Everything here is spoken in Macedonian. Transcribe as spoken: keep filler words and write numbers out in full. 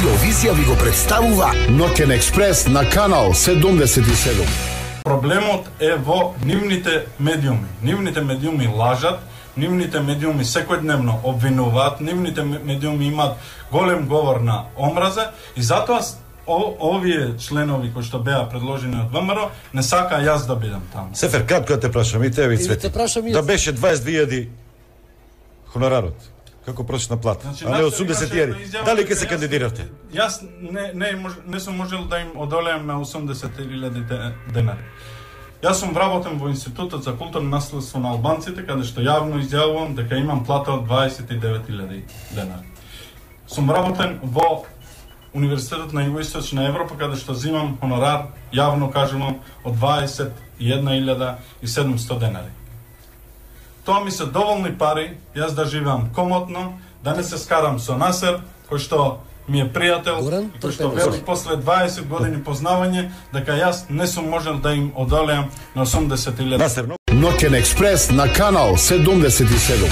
Радиовизија ви го представува Ноќен експрес на канал седумдесет и седум. Проблемот е во нивните медиуми. Нивните медиуми лажат, нивните медиуми секојдневно обвинуваат, нивните медиуми имаат голем говор на омраза и затоа о, овие членови кои што беа предложени од ВМРО не сака јас да бидам таму. Сефер, кратко да те прашам и тебе и Цвети. Да беше дваесет две илјади хонорарот. Како просечна плата, значи, а не осумдесет илјади. Дали ќе се кандидирате? Јас не не не сум можел да им одолеам на осумдесет илјади денари. Јас сум вработен во Институтот за културно наследство на албанците, каде што јавно изјавувам дека имам плата од дваесет и девет илјади денари. Сум вработен во Универзитетот на Југоисточна Европа, каде што земам хонорар, јавно кажувам, од дваесет и една илјада и седумстотини денари. Тоа ми се доволни пари, јас да живеам комотно, да не се скарам со Насер, кој што ми е пријател, кој што вели после дваесет години познавање, дека јас не сум можел да им одолеам на осумдесет илјади. Ноќен експрес на канал седумдесет и седум.